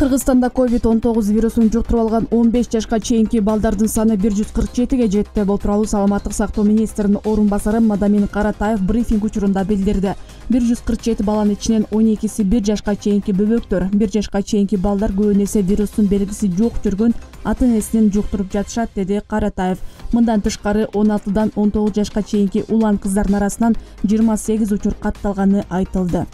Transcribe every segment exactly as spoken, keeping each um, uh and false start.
Кыргызстанда ковид он тогуз вирусун жуктуруп алган он беш жашка чейинки балдардын саны бир жүз кырк жетиге жетти. Бул тууралуу Саламаттык сактоо министринин орун басары Мадамин Каратаев брифинг учурунда билдирди. бир жүз кырк жети баланын ичинен он экиси бир жашка чейинки бөбөктөр. бир жашка чейинки балдар көбүн эсе вирустун белгиси жок жүргөн ата-энесинен жуктуруп жатышат, деди Каратаев. Мындан тышкары он алтыдан он тогуз жашка чейинки улан кыздардын арасынан жыйырма сегиз учур катталганы айтылды.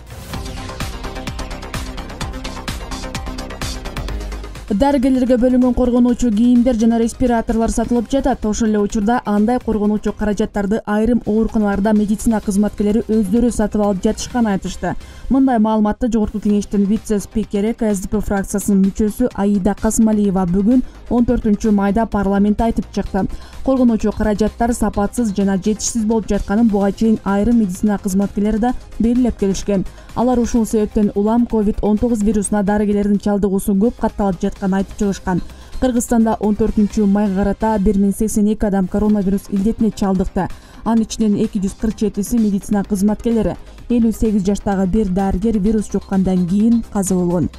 Дарыгерлерге бөлүнгөн коргонуучу кийимдер жана респираторлор сатылып жатат. Ошол эле учурда андай коргонуучу каражаттарды айрым ооруканаларда медицина кызматкерлери өздөрү сатып алып жатышканын айтышты. Мындай маалыматты Жогорку кеңештин вице-спикери Ка Эс Ди Пи фракциясынын мүчөсү Аида Касмалиева бүгүн он төртүнчү майда парламентте айтып чыкты. Коргонуучу каражаттар сапатсыз жана жетишсиз болуп жатканын буга чейин айрым медицина кызматкерлери да белгилеп келишкен. Алар ушул себептен улам ковид он тогуз вирусуна дарыгерлердин чалдыгуусу көп катталып жатканын айтып чыгышкан. Кыргызстанда он төртүнчү майга карата бир миң сексен эки адам коронавирус илдетине чалдыкты. Анын ичинен эки жүз кырк жетиси медицина кызматкерлери. элүү сегиз жаштагы бир дарыгер вирус жуккандан кийин каза болгон.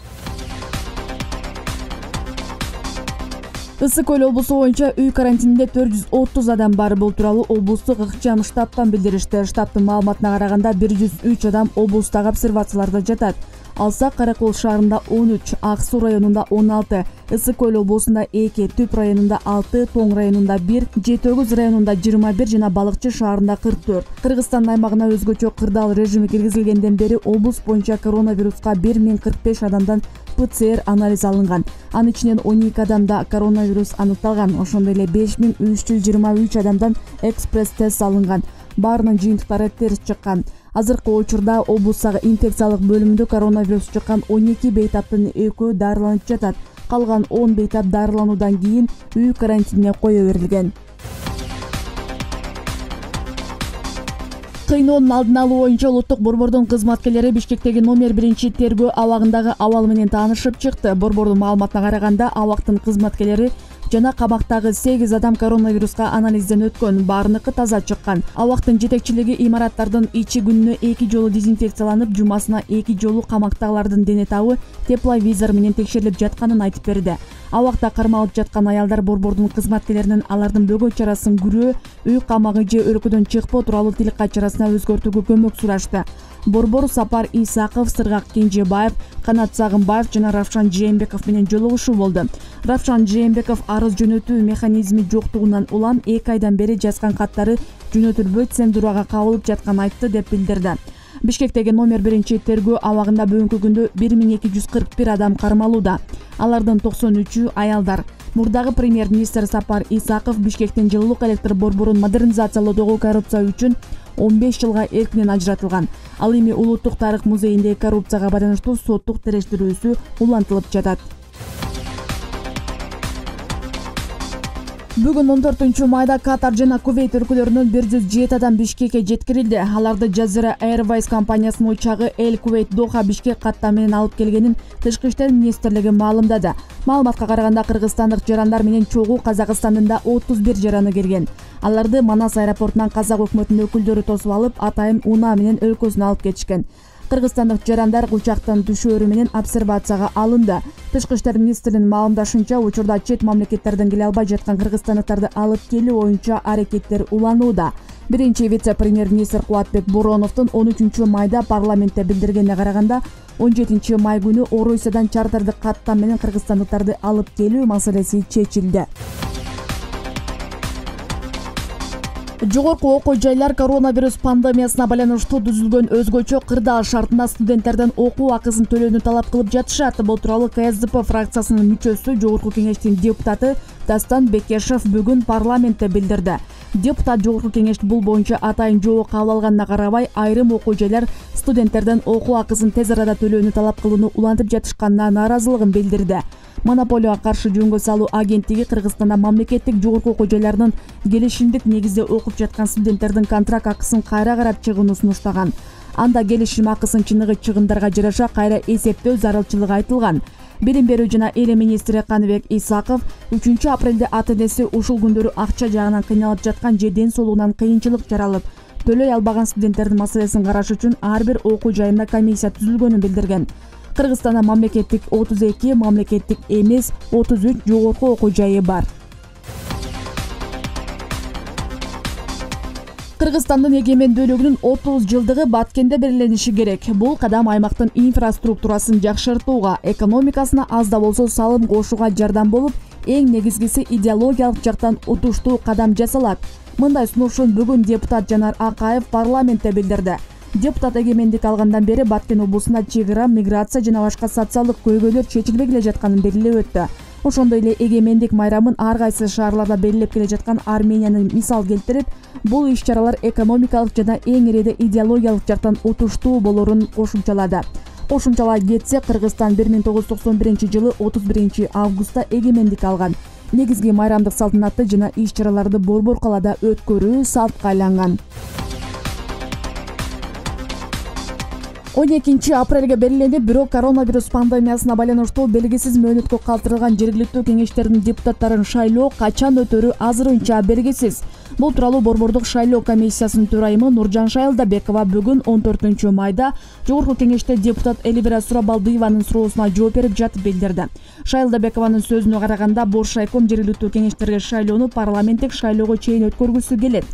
Ысык Көл облусу боюнча үй карантининде төрт жүз отуз адам бар. Бул тууралуу облустук ыкчам штабтан билдиришти. Штабтын маалыматына караганда бир жүз үч адам облустагы обсервацияларда жатат. Алсак Каракол шаарында он үч, Ак Суу районунда он алты, Ысык Көл облусунда эки, Түп районунда алты, Тоң районунда бир, Жети Өгүз районунда жыйырма бир жана Балыкчы шаарында кырк төрт. Кыргызстан аймагына өзгөчө кырдаал режими киргизилгенден бери облус боюнча коронавируска бир миң кырк беш адамдан П Ц Р анализ алынган. Анын ичинен он эки адамда коронавирус аныкталган. Ошондой эле беш миң үч жүз жыйырма үч адамдан экспресс тест алынган. Баарынын жыйынтыктары терс чыккан. Азыркы учурда облустагы инфекциялык бөлүмүндө коронавирус чыккан он эки бейтаптын экөө дарыланып жатат. Калган он бейтап дарылануудан кийин үй карантинине кое берилген. Кыйноонун алдын алуу боюнча улуттук борбордун кызматкерлери Бишкектеги номер биринчи тергөө абагындагы абал менен таанышып чыкты. Борбордун маалыматына караганда абактын кызматкерлери жана камактагы сегиз адам коронавируска анализден өткөн, баарыныкы таза чыккан. Абактын жетекчилиги имараттардын ичи күнүнө эки жолу дезинфекцияланып, жумасына эки жолу камактагылардын дене табы тепловизор менен текшерилип жатканын айтып берди. Абакта кармалып жаткан аялдар борбордун кызматкерлеринин алардын бөгөт чарасын күрөө, үй камагы же өлкөдөн чыкпоо тууралуу тил качарасына өзгөртүүгө көмөк сурашты. Борбор Сапар Исаков, Сыргак Кенжебаев, Канат Сагынбаев жана Равшан Жээнбеков менен жолугушуу болду. Равшан Жээнбеков арыз жөнөтүү механизми жоктугунан улам эки айдан бери жазган каттары жөнөтүлбөй цензурага кабылып жатканын айтты деп билдирди. Бишкектеги номер биринчи тергөө абагында бүгүнкү күндө бир миң эки жүз кырк бир адам кармалууда. Алардын токсон үчү аялдар. Мурдагы премьер-министр Сапар Исаков Бишкектин жылуулук электр борборун модернизациялоодогу коррупция үчүн он беш жылга эркинен ажыратылган. Ал эми Улуттук тарых музейиндеги коррупцияга байланыштуу соттук терештирүүсү улантылып жатат. Бүгүн он төртүнчү майда Катар жана Кувейт өлкөлөрүнөн бир жүз жети адам Бишкекке жеткирилди. Аларды Jazeera Airways компаниясынын учагы Эль Кувейт Доха Бишкек каттам менен алып келгенин Тышкы иштер министрлиги маалымдады. Маалыматка караганда кыргызстандык жарандар менен чогуу Казакстандын да отуз бир жараны келген. Аларды Манас аэропортунан Казак өкмөтүнүн өкүлдөрү тосуп алып, атайын унаа менен өлкөсүнө алып кетишкен. Кыргызстандык жарандар учактын түшөөрү менен обсервацияга алынды. Тышкы иштер министринин маалымдашынча, учурда чет мамлекеттерден келе албай жаткан кыргызстандыктарды алып келүү боюнча аракеттер уланууда. Биринчи вице-премьер-министр Кубатбек Бороновдун он үчүнчү майда парламентте билдиргенине караганда, он жетинчи май күнү Орусиядан чартардык каттам менен кыргызстандыктарды алып келүү маселеси чечилди. Жогорку окуу жайлар коронавирус пандемиясына байланыштуу түзүлгөн өзгөчө кырдаал шартында студенттерден окуу акысын төлөөнү талап кылып жатышат. Бул тууралуу Ка Эс Ди Пи фракциясынын мүчөсү, Жогорку кеңештин депутаты Дастан Бекешев бүгүн парламентте билдирди. Депутат Жогорку кеңеш бул боюнча атайын жобо кабыл алганына карабай, айрым окуу жайлар студенттерден окуу акысын тез арада төлөөнү талап кылууну улантып жатышканына нааразылыгын билдирди. Монополияга каршы жөнгө салуу агенттиги Кыргызстанда мамлекеттик жогорку окуу жайларынын келишимдик негизде окуп жаткан студенттердин контракт акысын кайра карап чыгууну сунуштаган. Анда келишим акысын чыныгы чыгымдарга жараша кайра эсептөө зарылчылыгы айтылган. Билим берүү жана эл министри Каныбек Исаков үчүнчү апрелде ата-энеси ушул күндөрү акча жагынан кыйналып жаткан же ден соолугунан кыйынчылык жаралып, төлөй албаган студенттердин маселесин караш үчүн ар бир окуу жайында комиссия түзүлгөнүн билдирген. Кыргызстанда мамлекеттик отуз эки, мамлекеттик эмес отуз үч жогорку окуу жайы бар. Кыргызстандын эгемендүүлүгүнүн отуз жылдыгы Баткенде белгилениши керек. Бул кадам аймактын инфраструктурасын жакшыртууга, экономикасына аз да болсо салым кошууга жардам болуп, эң негизгиси идеологиялык жактан утуштуу кадам жасалат. Мындай сунушун бүгүн депутат Жанар Акаев парламентте билдирди. Депутат эгемендик алгандан бери Баткен облусунда чек ара, миграция жана башка социалдык көйгөйлөр чечилбей келе жатканын белгилеп өттү. Ошондой эле эгемендик майрамын ар кайсы шаарларда белгилеп келе жаткан Арменияны мисал келтирип, бул иш-чаралар экономикалык жана эң ириде идеологиялык жактан утуштуу болорун кошумчалады. Кошумчалай кетсе, Кыргызстан бир миң тогуз жүз токсон биринчи жылы отуз биринчи августта эгемендик алган. Негизги майрамдык салтанатты жана иш-чараларды Борбор калаада өткөрүү салтка айланган. он экинчи апрелге белгиленип, бирок коронавирус пандемиясына байланыштуу белгисиз мөөнөткө калтырылган жергиликтүү кеңештердин депутаттарын шайлоо качан өтөрү азырынча белгисиз. Бул тууралуу Борбордук шайлоо комиссиясынын төрайымы Нуржан Шайлдабекова бүгүн он төртүнчү майда Жогорку кеңеште депутат Элибира Сурабалдиеванын суроосуна жооп берип жатып билдирди. Шайлдабекованын сөзүнө караганда, Бош шайком жергиликтүү кеңештерге шайлоону парламенттик шайлоого чейин өткөргүсү келет.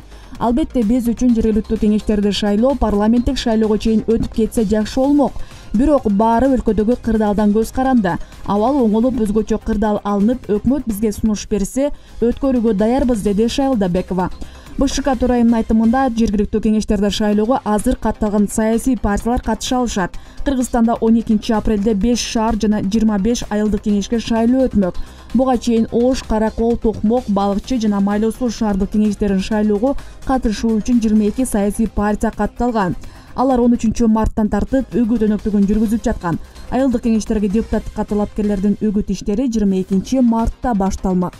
Албетте биз үчүн жергиликтүү кеңештерди шайлоо парламенттик шайлоого чейин өтүп кетсе жакшы болмок. Бирок баары өлкөдөгү кырдаалдан көз каранды. Абал оңолуп өзгөчө кырдаал алынып, өкмөт бизге сунуш берсе, өткөрүүгө даярбыз, деди Шайлдабекова. БШК төрайымынын айтымында, жергиликтүү кеңештерде шайлоого азыр катталган саясий партиялар катыша алышат. Кыргызстанда он экинчи апрелде беш шаар жана жыйырма беш айылдык кеңешке шайлоо өтмөк. Буга чейин Ош, Каракол, Токмок, Балыкчы жана Майлуу Суу шаардык кеңештерин шайлоого катышуу үчүн жыйырма эки саясий партия катталган. Алар он үчүнчү марттан тартып үгүт өнөктүгүн жүргүзүп жаткан. Айылдык кеңештерге депутаттыкка талапкерлердин үгүт иштери жыйырма экинчи мартта башталмак.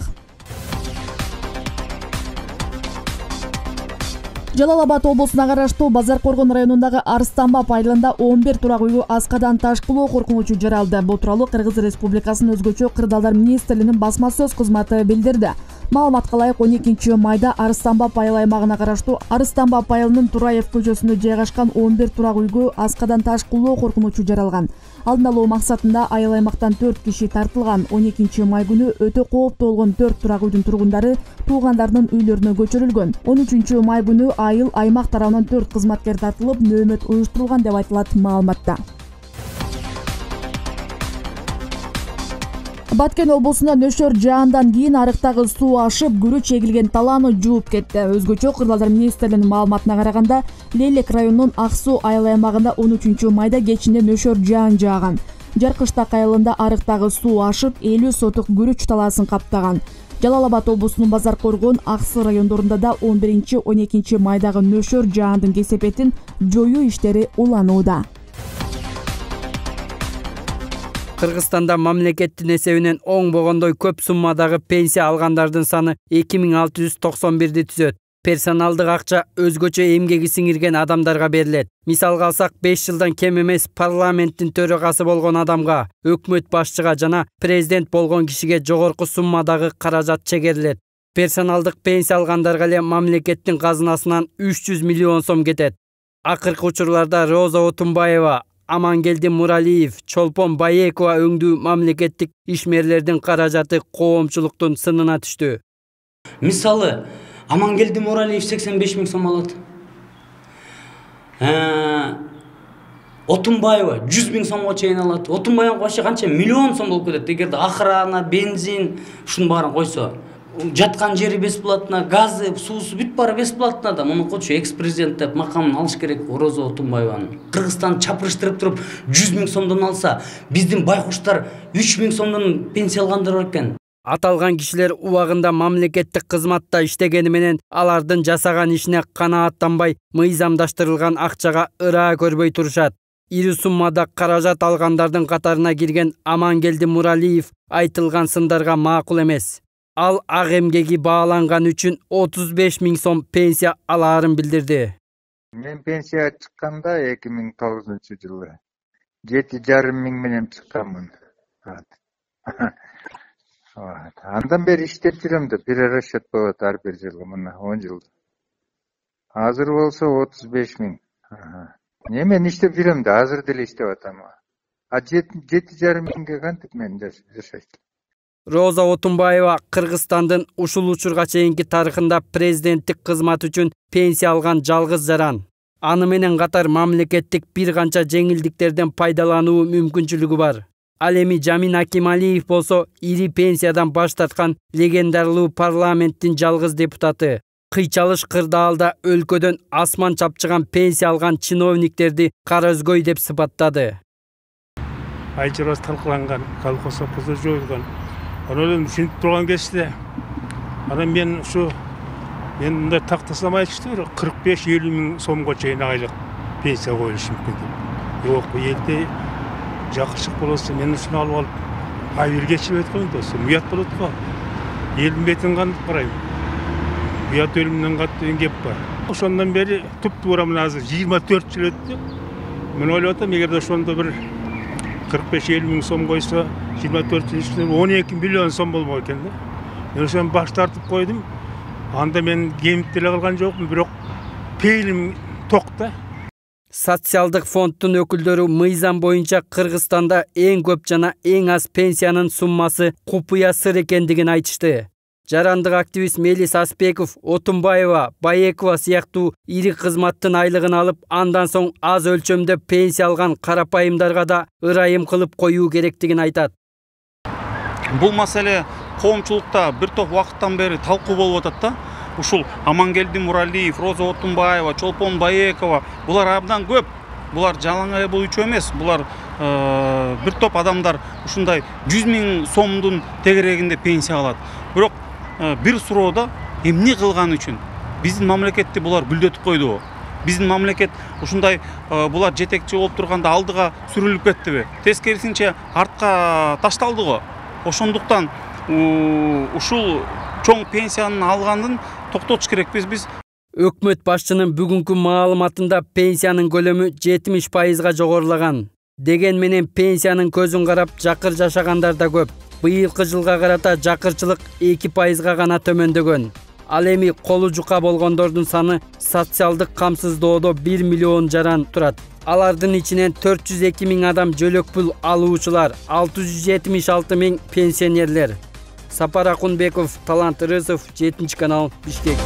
Жалал Абад облусуна караштуу Базар Коргон районундагы Арстанбап айылында он бир турак үйгө аскадан таш кулоо коркунучу жаралды. Бул тууралуу Кыргыз Республикасынын өзгөчө кырдаалдар министрлигинин басма сөз кызматы билдирди. Маалыматка ылайык, он экинчи майда Арстанбап айыл аймагына караштуу Арстанбап айылынын Тураев көчөсүндө жайгашкан он бир турак үйгө аскадан таш кулоо коркунучу жаралган. Алдын алуу максатында айыл аймактан төрт киши тартылган. он экинчи май күнү өтө кооптуу болгон төрт турак үйдүн тургундары туугандарынын үйлөрүнө көчүрүлгөн. он үчүнчү май күнү айыл аймак тарабынан төрт кызматкер тартылып, нөөмөт уюштурулган деп айтылат маалыматта. Баткен облусунда нөшөр жаандан кийин арыктагы суу ашып, күрүч эгилген талааны жууп кетти. Өзгөчө кырдаалдар министрлигинин маалыматына караганда, Лелек районунун Ак суу айыл аймагында он үчүнчү майда кечинде нөшөр жаан жааган. Жаркыштак айылында арыктагы суу ашып, элүү сотук күрүч талаасын каптаган. Жалал Абад облусунун Базар Коргон, Аксы райондорунда да он биринчи он экинчи майдагы нөшөр жаандын кесепетин жоюу иштери уланууда. Кыргызстанда мамлекеттин эсебинен оңбогондой көп суммадагы пенсия алгандардын саны эки миң алты жүз токсон бирди түзөт. Персоналдык акча өзгөчө эмгеги сиңирген адамдарга берилет. Мисалга алсак, беш жылдан кем эмес парламенттин төрагасы болгон адамга, өкмөт башчыга жана президент болгон кишиге жогорку суммадагы каражат чегерилет. Персоналдык пенсия алгандарга эле мамлекеттин казынасынан үч жүз миллион сом кетет. Акыркы учурларда Роза Отунбаева, Амангелди Муралиев, Чолпон Баекова өңдүү мамлекеттик ишмерлердин каражаты коомчулуктун сынына түштү. Мисалы, Амангелди Муралиев сексен беш миң сом алат. Отунбаева жүз миң сомго чейин алат. Отунбаева коşa канча миллион сом болуп кетет. Эгерде охрана, бензин, ушунун баарын койсо, жаткан жери бесплатно, газы, суусу бүт баары бесплатно да. Муну кочу экс-президент деп макамын алыш керек Роза Отунбаеванын. Кыргызстан чапырыштырып туруп жүз миң сомдон алса, биздин байкуштар үч миң сомдон пенсия алгандар бар экен. Аталган кишилер убагында мамлекеттик кызматта иштегени менен алардын жасаган ишине канааттанбай, мыйзамдаштырылган акчага ыраа көрбөй турушат. Ири суммада каражат алгандардын катарына кирген Амангелди Муралиев айтылган сындарга макул эмес. Ал ак эмгеги бааланган үчүн отуз беш миң сом пенсия алаарын билдирди. Мен пенсия чыкканда эки миң тогузунчу жылы жети жарым миң менен чыкканмын. Андан бери иштеп жүрөм да, бир расчет болот ар бир жылы, мына он жыл. Азыр болсо отуз беш миң. Не, мен иштеп жүрөм да, азыр деле иштеп атам. А жети жарым миңге кантип мен жашайт? Роза Отунбаева Кыргызстандын ушул учурга чейинки тарыхында президенттик кызмат үчүн пенсия алган жалгыз жаран. Аны менен катар мамлекеттик бир канча жеңилдиктерден пайдалануу мүмкүнчүлүгү бар. Ал эми Жамин Акималиев болсо ири пенсиядан баш тарткан легендарлуу парламенттин жалгыз депутаты. Кыйчалыш кырдаалда өлкөдөн асман чапчыган пенсия алган чиновниктерди кара өзгөй деп сыпаттады. Айчырас талкаланган, колхоз сопкозо жоюлган. Анан ушинтип турган кезде анан мен ушу мен мындай тактасам айтышты бир кырк беш элүү миң сомго чейин айлык пенсия коюлушу мүмкүн деп. Жок, бу элде жакшылык болсо мен ушуну алып алып ай бир кечирип өткөн досу уят болот го. Элдин бетин кантип карайм? Уят өлүмдөн катуу деген кеп бар. Ошондон бери туп-туура мына азыр жыйырма төрт жыл өттү. Мен ойлоп атам, эгерде ошондо бир кырк беш элүү миң сом койсо, жыйырма төрт жыл ичинде он эки миллион сом болмок экен да. Мен ошону баш тартып койдум. Анда мен кемип деле калган жокмун, бирок пейилим токта. Социалдык фонддун өкүлдөрү мыйзам боюнча Кыргызстанда эң көп жана эң аз пенсиянын суммасы купуя сыр экендигин айтышты. Жарандык активист Мелис Аспеков, Отунбаева, Баекова сыяктуу ири кызматтын айлыгын алып, андан соң аз өлчөмдө пенсия алган карапайымдарга да ырайым кылып коюу керектигин айтат. Бул маселе коомчулукта бир топ убакыттан бери талкуу болуп атат да. Ушул Амангелди Муралиев, Роза Отунбаева, Чолпон Баекова, булар абдан көп. Булар жалаң бул үчөө эмес. Булар бир топ адамдар ушундай жүз миң сомдун тегерегинде пенсия алат. Бирок бир суроодо эмне кылган үчүн биздин мамлекетти булар бүлдөтүп койдубу? Биздин мамлекет ушундай булар жетекчи болуп турганда алдыга сүрүлүп кеттиби? Тескерисинче артка ташталды го. Ошондуктан ушул чоң пенсияны алгандын токтотуш керекпиз биз. Өкмөт башчынын бүгүнкү маалыматында пенсиянын көлөмү жетимиш пайызга жогорулаган. Деген менен пенсиянын көзүн карап жакыр жашагандар да көп. Быйылкы жылга карата жакырчылык эки пайызга гана төмөндөгөн. Ал эми колу жука болгондордун саны социалдык камсыздоодо бир миллион жаран турат. Алардын ичинен төрт жүз эки миң адам жөлөк пул алуучулар, алты жүз жетимиш алты миң пенсионерлер. Сапар Акунбеков, Талант Рысов, жетинчи канал, Бишкек.